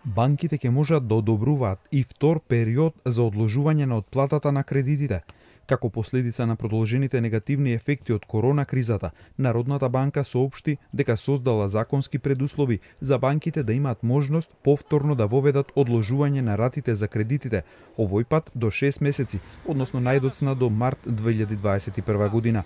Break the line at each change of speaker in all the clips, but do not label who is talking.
Банките ќе можат да одобруваат и втор период за одложување на отплатата на кредитите. Како последица на продолжените негативни ефекти од корона кризата, Народната банка соопшти дека создала законски предуслови за банките да имаат можност повторно да воведат одложување на ратите за кредитите, овој пат до 6 месеци, односно најдоцна до март 2021 година.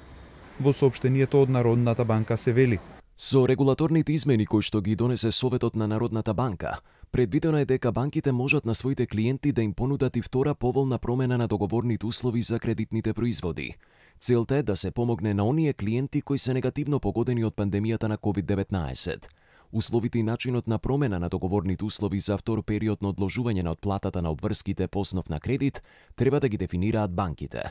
Во соопштението од Народната банка се вели:
Со регулаторните измени кои што ги донесе Советот на Народната банка, предвидено е дека банките можат на своите клиенти да им понудат и втора поволна промена на договорните услови за кредитните производи. Целта е да се помогне на оние клиенти кои се негативно погодени од пандемијата на COVID-19. Условите и начинот на промена на договорните услови за втор период на одложување на отплатата на обврските по основ на кредит треба да ги дефинираат банките.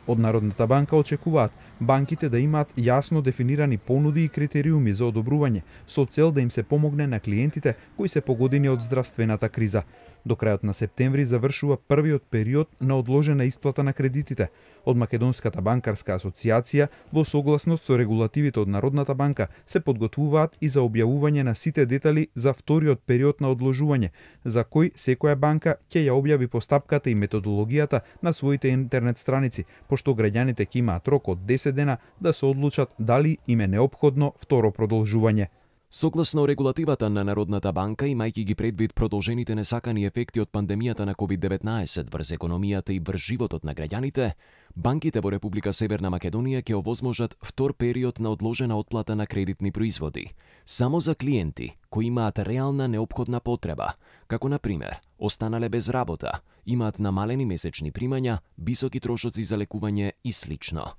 Од Народната банка очекуваат банките да имаат јасно дефинирани понуди и критериуми за одобрување, со цел да им се помогне на клиентите кои се погодени од здравствената криза. До крајот на септември завршува првиот период на одложена исплата на кредитите. Од Македонската банкарска асоциација, во согласност со регулативите од Народната банка, се подготвуваат и за објавување на сите детали за вториот период на одложување, за кој секоја банка ќе ја објави постапката и методологијата на своите интернет страници, пошто граѓаните ќе имаат рок од 10 дена да се одлучат дали им е неопходно второ продолжување.
Согласно регулативата на Народната банка, имајќи ги предвид продолжените несакани ефекти од пандемијата на COVID-19 врз економијата и врз животот на граѓаните, банките во Република Северна Македонија ќе овозможат втор период на одложена отплата на кредитни производи, само за клиенти кои имаат реална неопходна потреба, како на пример, останале без работа, имаат намалени месечни примања, високи трошоци за лекување и слично.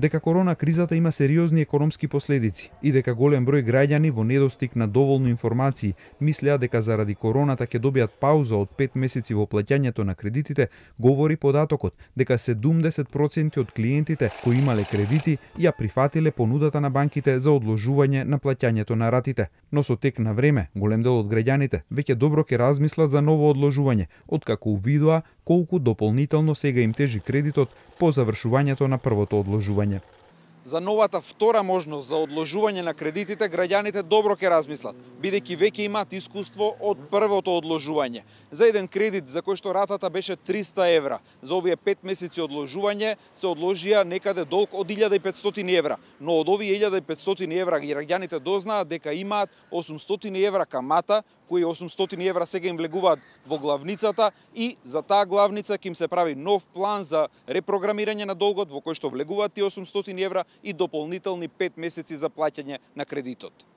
Дека корона кризата има сериозни економски последици и дека голем број граѓани во недостиг на доволно информации мислеа дека заради короната ќе добијат пауза од 5 месеци во плаќањето на кредитите, говори податокот дека 70% од клиентите кои имале кредити ја прифатиле понудата на банките за одложување на плаќањето на ратите. Но со тек на време, голем дел од граѓаните веќе добро ќе размислат за ново одложување, откако увидоа колку дополнително сега им тежи кредитот по завршувањето на првото одложување.
За новата втора можност за одложување на кредитите, граѓаните добро ќе размислат, бидејќи веќе имаат искуство од првото одложување. За еден кредит за кој што ратата беше 300 евра, за овие 5 месеци одложување се одложија некаде долг од 1500 евра, но од овие 1500 евра граѓаните дознаат дека имаат 800 евра камата, кои 800 евра сега им влегуваат во главницата и за таа главница ќе им се прави нов план за репрограмирање на долгот во кој што влегуваат тие 800 евра и дополнителни 5 месеци за плаќање на кредитот.